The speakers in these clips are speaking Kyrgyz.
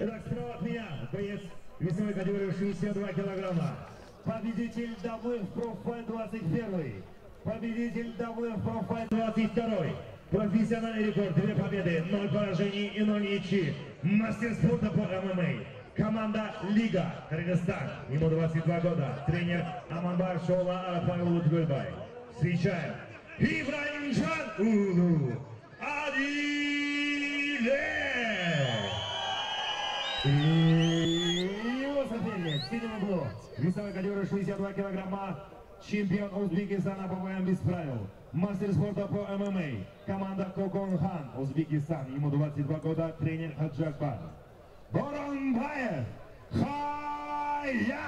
Итак, справа от меня боец весовой категории 62 килограмма. Победитель WF Pro Fight 21. Победитель WF Pro Fight 22. Профессиональный рекорд, 2 победы, 0 поражений и 0 ничьих. Мастер спорта по ММА. Команда Лига, Кыргызстан. Ему 22 года. Тренер Аманбаев Шола Павел Утгульбай. Встречаем Ибраимжан Улу Адиле. И его соперник в синем углу. Весовая категория 62 килограмма. Чемпион Узбекистана по боям без правил. Мастер спорта по ММА. Команда Коконхан, Узбекистан. Ему 22 года. Тренер Хаджакбар. Боронбаев Хая.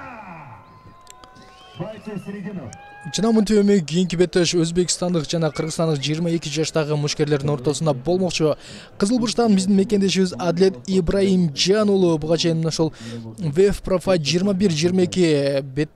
Бойцы в середину. Жана мынтип кийинки беттеш Өзбекстандык жана Кыргызстандык 22 жаштагы мушкерлердин ортосунда болмокчу. Кызыл бурчтан биздин мекендешибиз Адлет Ибраимжан уулу буга чейин ошол WF Pro Fight 21-22 бет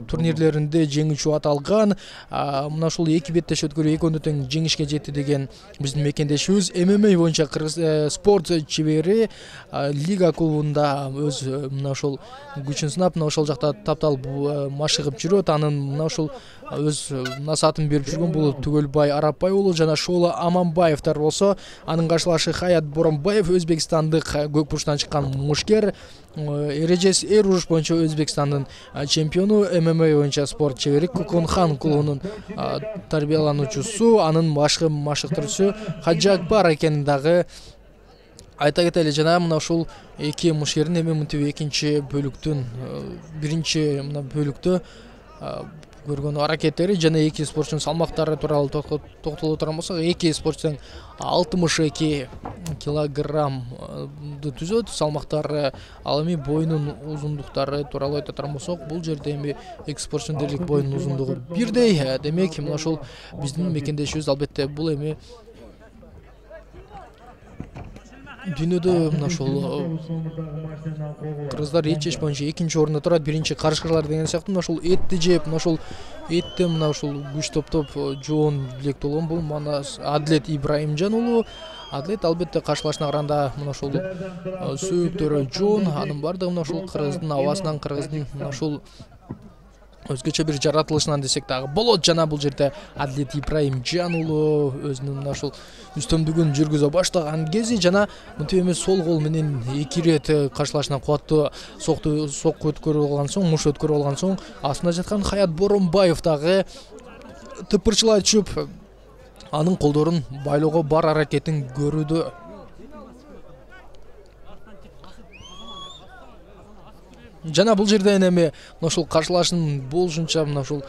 турнирлеринде жеңүүчү аталган. Мына ушул эки беттеш өткөрүү экөөнү тең жеңишке жетти деген биздин мекендешибиз ММА боюнча Кыргыз спорт чебери Лига клубунда өз мына ошол күчүн сынап, мына ошол жакта таптал машыгып жүрөт. Анын мына ошол өз насаатын берип жүргөн бул Түгөлбай Арапбай уулу жана Шола Аманбаевтар болсо, анын каршылашы Хаят Боронбаев Өзбекстандык көк бурчтан чыккан мушкер. Эрежес эр уруш боюнча Өзбекстандын чемпиону, ММА боюнча спорт чебери Коконхан клубунун тарбиялануучусу, анын башкы машыктыруучусу Хаджакбар экенин дагы айта кетели. Жана мына ушул эки мушкердин эми мынтип экинчи бөлүктүн биринчи мына бөлүктө көргөн аракеттери жана эки спортчунун салмактары тууралуу токтоло турган болсок, эки спортчу 62 килограммды түзөт салмактары. Ал эми боюнун узундуктары тууралуу айта турган болсок, бул жерде эми эки спортчунун дерлик боюнун узундугу бирдей. Демек мына ушул биздин мекендешибиз албетте бул эми дүйнөдө мына ошол кыргыздар эт жеш боюнча экинчи орунда турат, биринчи карышкырлар деген сыяктуу. Мына ошол этти жеп, мына ошол этти мына ошол күч топтоп жоон илектүү болгон бул мана Адлет Ибраимжан уулу. Адлет албетте каршылашына караганда мына ошол сөөктөрү жоон, анын бардыгы мына ошол кыргыздын абасынан, кыргыздын мына ошол өзгөчө бир жаратылышынан десек дагы болот. Жана бул жерде Адлет Ибраимжан уулу өзүнүн мына ошол үстөмдүгүн жүргүзө баштаган кези жана мынтип эми сол кол менен эки ирет каршылашына кубаттуу сокку өткөрүп алган соң, муш өткөрүп алган соң, астында жаткан Хаят Боронбаев дагы тыпырчылай түшүп анын колдорун байлоого бар аракетин көрүүдө. Жана бул жерден эми мына ушул каршылашын болушунча мына ушул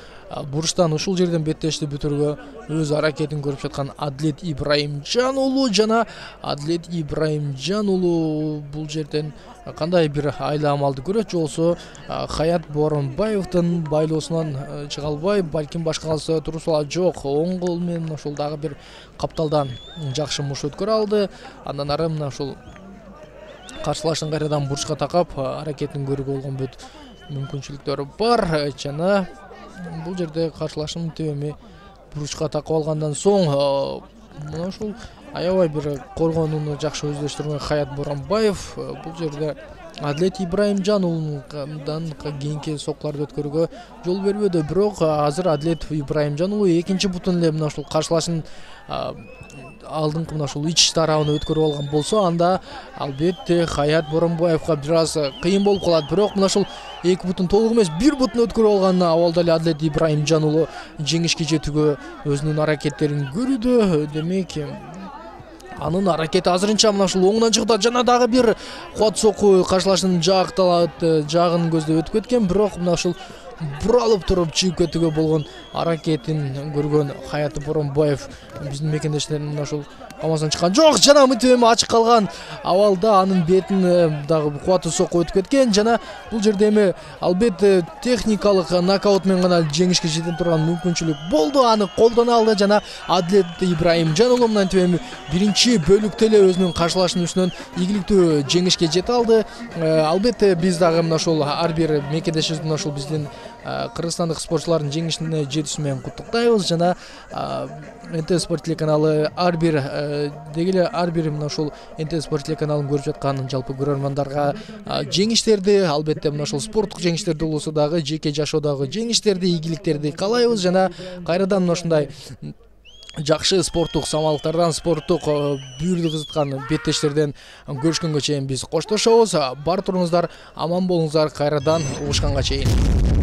бурчтан ушул жерден беттешти бүтүргө өз аракетин көрүп жаткан Адлет Ибраимжан уулу жана Адлет Ибраимжан уулу бул жерден кандай бир айла амалды көрөт, же болбосо Хаят Боронбаевдин байлоосунан чыга албай, балким башка калса турсала жок, оң кол менен ошол дагы бир капталдан жакшы муш өткөрө алды. Андан ары мына ушул каршылашын кайрадан бурчка такап аракетин көрүүгө болгон бүт мүмкүнчүлүктөрү бар. Жана бул жерде каршылашын эми бурчка такап алгандан соң мына ушул аябай бир коргонууну жакшы өздөштүргөн Хаят Боронбаев бул жерде Адлет Ибраимжан уулундан кийинки соккуларды өткөрүүгө жол бербөдү. Бирок азыр Адлет Ибраимжан уулу экинчи бутун эле мына ушул каршылашын алдыңкы мына ушул ич тарабын өткөрүп алган болсо, анда албетте Хаят Боронбаевга бир аз кыйын болуп калат. Бирок мына ушул эки бутун толук эмес, бир бутун өткөрүп алган абалда эле Адлет Ибраимжан уулу жеңишке жетүүгө өзүнүн аракеттерин көрүүдө. Демек анын аракети азырынча мына ушул оңунан чыгып жана дагы бир кубат сокку каршылашынын жагын көздөп өтүп кеткен. Бирок мына ушул буралып туруп чыгып кетүүгө болгон аракетин көргөн Хаят Боронбаев биздин мекендештердин мына ушул амасынан чыккан жок. Жана мынтип эми ачык калган абалда анын бетин дагы кубаттуу сокку өтүп кеткен. Жана бул жерде эми албетте техникалык нокаут менен гана жеңишке жете турган мүмкүнчүлүк болду. Аны колдоно алды жана Адлет Ибраимжан уулу мынтип эми биринчи бөлүктө эле өзүнүн каршылашынын үстүнөн ийгиликтүү жеңишке жете алды. Албетте биз дагы мына ошол ар бир мекендешибиз мына ошол биздин кыргызстандык спортчулардын жеңишине жетүүсү менен куттуктайбыз жана НТ Спорт телеканалы ар бир мына ушул НТ Спорт телеканалын көрүп жаткан жалпы көрөрмандарга жеңиштерди, албетте мына ушул спорттук жеңиштерди болсо дагы жеке жашоодогу жеңиштерди, ийгиликтерди каалайбыз жана кайрадан мына ушундай жакшы спорттук самалыктардан, спорттук бүйүрдү кызыткан беттештерден көрүшкөнгө чейин биз коштошобуз. Бар туруңуздар, аман болуңуздар, кайрадан угушканга чейин.